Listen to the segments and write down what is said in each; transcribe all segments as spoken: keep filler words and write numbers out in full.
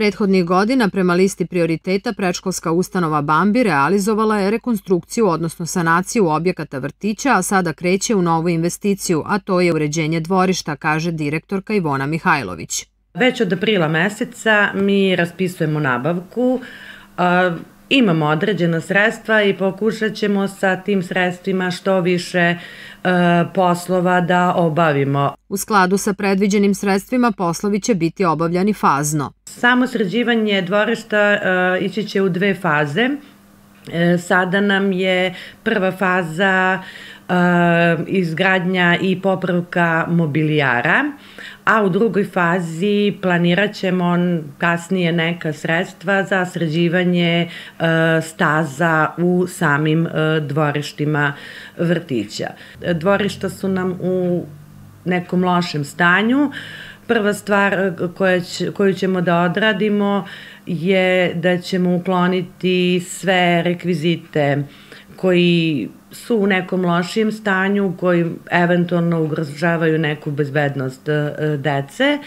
Prethodnih godina prema listi prioriteta predškolska ustanova Bambi realizovala je rekonstrukciju, odnosno sanaciju objekata vrtića, a sada kreće u novu investiciju, a to je uređenje dvorišta, kaže direktorka Ivona Mihajlović. Već od aprila meseca mi raspisujemo nabavku, imamo određena sredstva i pokušat ćemo sa tim sredstvima što više poslova da obavimo. U skladu sa predviđenim sredstvima poslovi će biti obavljani fazno. Samo sređivanje dvorišta ići će u dve faze. Sada nam je prva faza izgradnja i popravka mobilijara, a u drugoj fazi planirat ćemo kasnije neka sredstva za sređivanje staza u samim dvorištima vrtića. Dvorišta su nam u nekom lošem stanju. Prva stvar koju ćemo da odradimo je da ćemo ukloniti sve rekvizite koji su u nekom lošijem stanju, koji eventualno ugrožavaju neku bezbednost dece.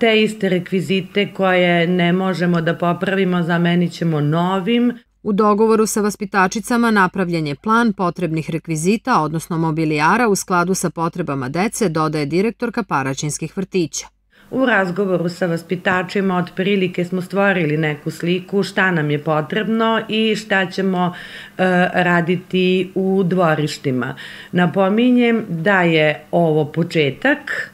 Te iste rekvizite koje ne možemo da popravimo zamenit ćemo novim. U dogovoru sa vaspitačicama napravljen je plan potrebnih rekvizita, odnosno mobilijara u skladu sa potrebama dece, dodaje direktorka Paraćinskih vrtića. U razgovoru sa vaspitačima otprilike smo stvorili neku sliku šta nam je potrebno i šta ćemo raditi u dvorištima. Napominjem da je ovo početak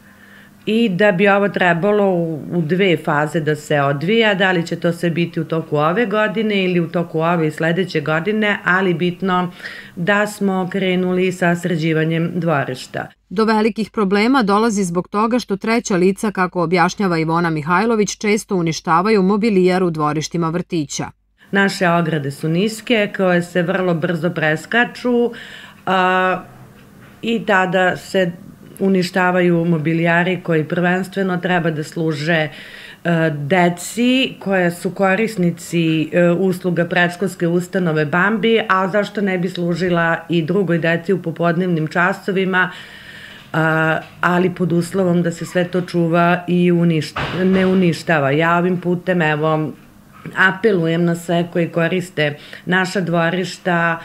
i da bi ovo trebalo u dve faze da se odvija, da li će to sve biti u toku ove godine ili u toku ove i sledeće godine, ali bitno da smo krenuli sa sređivanjem dvorišta. Do velikih problema dolazi zbog toga što treća lica, kako objašnjava Ivona Mihajlović, često uništavaju mobilijar u dvorištima vrtića. Naše ograde su niske, koje se vrlo brzo preskaču i tada se uništavaju mobilijari koji prvenstveno treba da služe deci koja su korisnici usluga predškolske ustanove Bambi, a zašto ne bi služila i drugoj deci u popodnevnim časovima, ali pod uslovom da se sve to čuva i ne uništava. Ja ovim putem evo apelujem na sve koji koriste naša dvorišta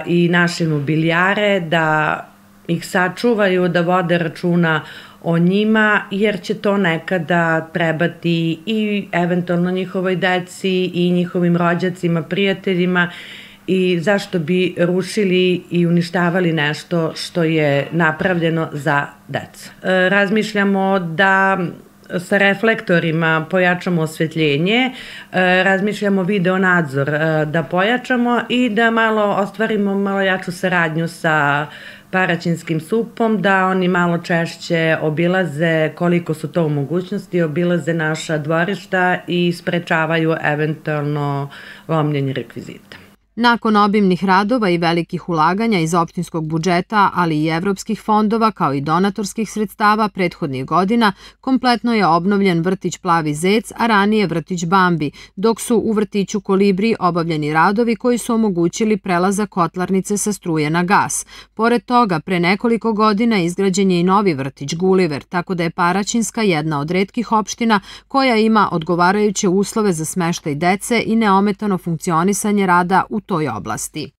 i naše mobilijare da ih sačuvaju, da vode računa o njima, jer će to nekada trebati i eventualno njihovoj deci i njihovim rođacima, prijateljima, i zašto bi rušili i uništavali nešto što je napravljeno za decu. Razmišljamo da sa reflektorima pojačamo osvetljenje, razmišljamo video nadzor da pojačamo i da malo ostvarimo malo jaču saradnju sa Paraćinskim supom, da oni malo češće obilaze, koliko su to u mogućnosti, obilaze naša dvorišta i sprečavaju eventualno lomljenje rekvizita. Nakon obimnih radova i velikih ulaganja iz opštinskog budžeta, ali i evropskih fondova, kao i donatorskih sredstava prethodnih godina, kompletno je obnovljen vrtić Plavi zec, a ranije vrtić Bambi, dok su u vrtiću Kolibri obavljeni radovi koji su omogućili prelazak kotlarnice sa struje na gas. Pored toga, pre nekoliko godina izgrađen je i novi vrtić Guliver, tako da je Paraćinska jedna od retkih opština koja ima odgovarajuće uslove za smeštaj dece i neometano funkcionisanje rada u toj oblasti.